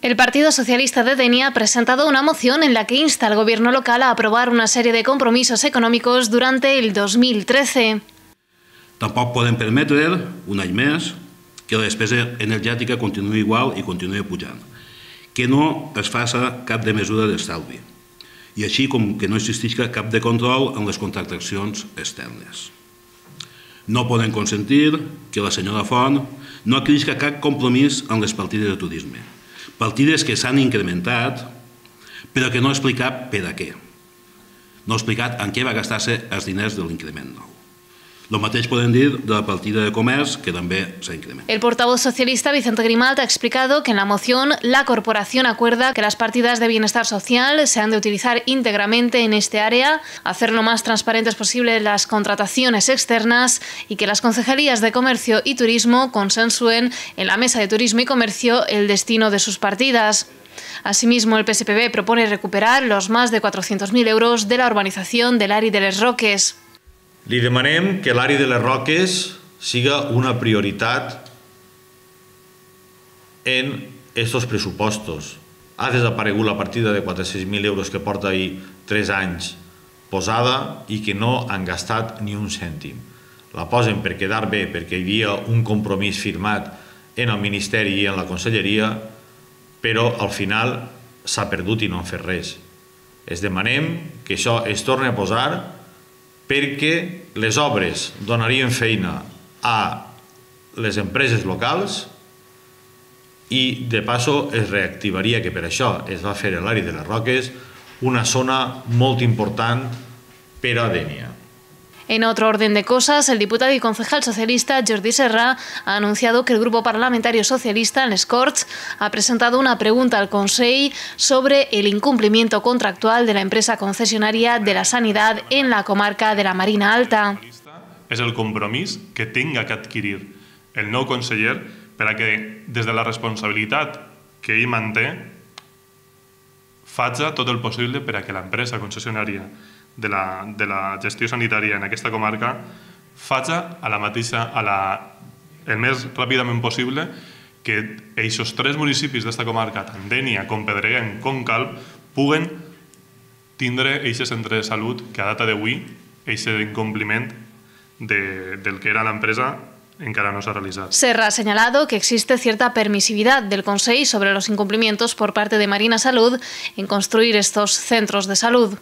El Partido Socialista de Denia ha presentado una moción en la que insta al gobierno local a aprobar una serie de compromisos econòmics durante el 2013. Tampoc podem permetre, un any més, que la despesa energètica continuï igual i continuï pujant, que no es faça cap de mesura d'estalvi, i així com que no existisca cap de control en les contractacions externes. No podem consentir que la senyora Font no adquirisca cap compromís en les partides de turisme, partides que s'han incrementat, però que no ha explicat per a què. No ha explicat en què va gastar-se els diners de l'increment nou. Lo mateix podem dir de la partida de comerç, que també s'ha incrementat. El portavoz socialista Vicente Grimalt ha explicado que en la moción la corporación acuerda que las partidas de bienestar social se han de utilizar íntegramente en este área, hacer lo más transparentes posible las contrataciones externas y que las concejalías de comercio y turismo consensúen en la mesa de turismo y comercio el destino de sus partidas. Asimismo, el PSPB propone recuperar los más de 400.000 euros de la urbanización del Ari de les Roques. Li demanem que l'Ari de les Roques siga una prioritat en aquests pressupostos. Ha desaparegut la partida de 400.000 euros que porta ahir 3 anys posada i que no han gastat ni un cèntim. La posen per quedar bé, perquè hi havia un compromís firmat en el Ministeri i en la Conselleria, però al final s'ha perdut i no han fet res. Es demanem que això es torni a posar perquè les obres donarien feina a les empreses locals i de passo es reactivaria, que per això es va fer a l'Ari de les Roques, una zona molt important per a Denia. En otro orden de cosas, el diputado y concejal socialista Jordi Serra ha anunciado que el Grupo Parlamentario Socialista en les Corts ha presentado una pregunta al Consell sobre el incumplimiento contractual de la empresa concesionaria de la Sanidad en la comarca de la Marina Alta. És el compromís que tinga que adquirir el nou conseller per a que, des de la responsabilitat que ell manté, faci tot el possible per a que l'empresa concessionària de la gestió sanitària en aquesta comarca faci el més ràpidament possible que aquests 3 municipis d'esta comarca, tant Denia com Pedreguem com Calp, puguen tindre aquest centre de salut que a data d'avui, aquest incompliment del que era l'empresa, encara no s'ha realizado. Serra ha señalado que existe cierta permisividad del Consell sobre los incumplimientos por parte de Marina Salud en construir estos centros de salud.